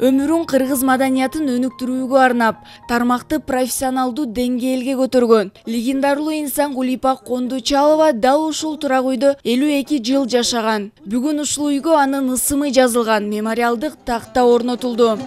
Өмүрүн кыргыз маданиятын өнүктүрүүгө арнап, тармакты профессионалдуу деңгээлге көтөргөн легендарлуу инсан Гулипа Кондучалова дал ушул турак үйдө 52 жыл жашаган. Бүгүн ушул үйгө анын ысымы жазылган мемориалдык такта орнотулду.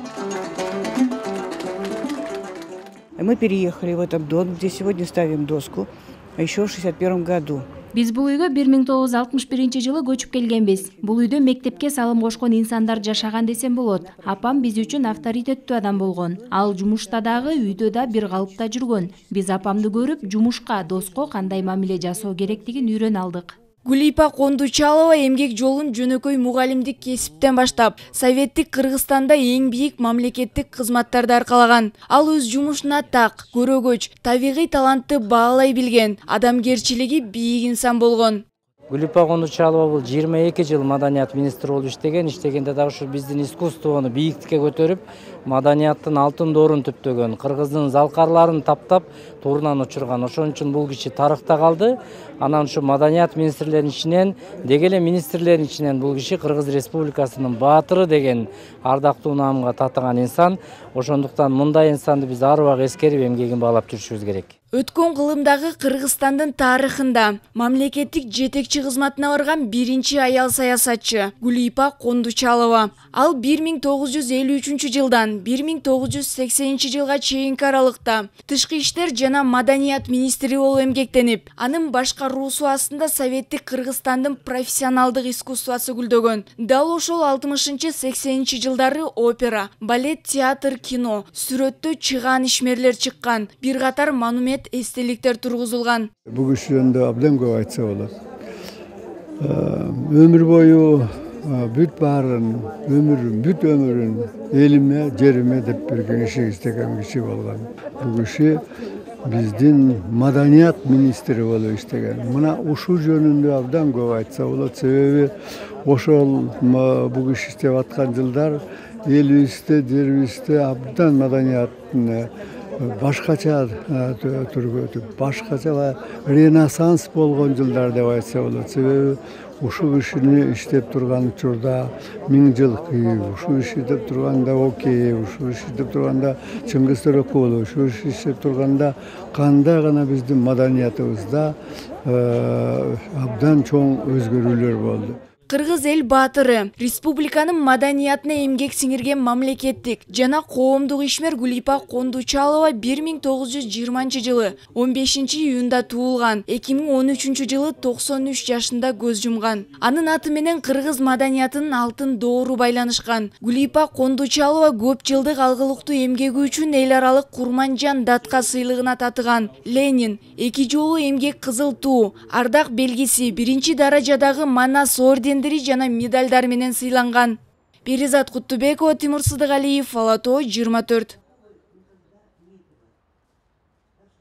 Мы переехали в этот дом, где сегодня ставим доску, еще в 1961 году. Биз бул үйгө 1961 жылы көчүп келгенбиз. Бул үйдө мектепке салым кошкон инсандар жашаган десем болот. Апам биз үчүн авторитеттүү адам болгон. Ал жумушта дагы, үйдө да бир калыпта жүргөн. Биз апамды көрүп, жумушка, доско кандай мамиле жасоо керектигин үйрөнө алдык. Гулипа Кондучалова эмгек жолун жөнөкөй мугалимдик кесиптен баштап, советтик Кыргызстанда эң бийик мамлекеттик кызматтарды аркалаган. Ал өз жумушуна так, көрөгөч, табигый талантты баалай билген, адамгерчилиги бийик инсан болгон. Гулипа Кондучалова бул 22 жыл маданият министри болуп иштегенде дагы ушу биздин искусствону бийиктикке көтөрүп, маданияттын алтын доорун түптөгөн, кыргыздын залкарларын таптап, турунан учурган. Ошон үчүн бул киши тарыхта калды. Анан ушу маданият министрлеринин ичинен, деги эле министрлердин ичинен бул киши Кыргыз Республикасынын баатыры деген ардактуу наамга татыган инсан. Ошондуктан мындай инсанды биз ар убак эскерип эмгегин баалап жүрүшүбүз керек. Өткөн кылымдагы Кыргызстандын тарыхында мамлекеттик жетекчи кызматына барган биринчи аял саясатчы Гулипа Кондучалова. Ал 1953 жылдан 1980 жылга чейинки аралыкта тышкы иштер жана маданият министри болуп эмгектенип, анын башкаруусу астында советтик Кыргызстандын профессионалдык искусствосу гүлдөгөн. Дал ошол 60-80 жылдары опера, балет, театр, кино, сүрөттө чыгаан ишмерлер чыккан, бир катар монумент эстеликтер тургузулган. Бул киши жөнүндө абдан көп айтса болот. Өмүр бою бүт баарын, бүт өмүрүн элиме, жериме деп берген иштеген киши болгон. Бул киши биздин маданият министри болуп иштеген. Мына ушул жөнүндө абдан көп айтса болот. Себеби ошол бул киши иштеп аткан жылдар элибизде, жерибизде абдан маданияттын башкача түргө өтүп, башкача ренессанс болгон жылдар деп айтса болот. Себеби ушул кишини иштеп турган учурда 1000 жыл кийүү, ушул иши иштеп турганда Окей, ушул иши иштеп турганда Чыңгыз Төрөкулов, ушул иши иштеп турганда кандай гана биздин маданиятыбызда абдан чоң өзгөрүүлөр болду. Кыргыз эл баатыры, республиканын маданиятына эмгек сиңирген мамлекеттик жана коомдук ишмер Гулипа Кондучалова 1920 жылы 15 июнда туулган, 2013 жылы 93 жашында көз жумган. Анын аты менен кыргыз маданиятынын алтын доору байланышкан. Гулипа Кондучалова көп жылдык алгылыктуу эмгеги үчүн эл аралык Курманжан датка сыйлыгына татыган. Ленин, 2 жолу эмгек кызыл туу, ардак белгиси, 1 даражадагы Манас орден жана медальдар менен сыйланган. Перизат Куттубекова, Тимур Сыдыгалиев, Ала Тоо 24.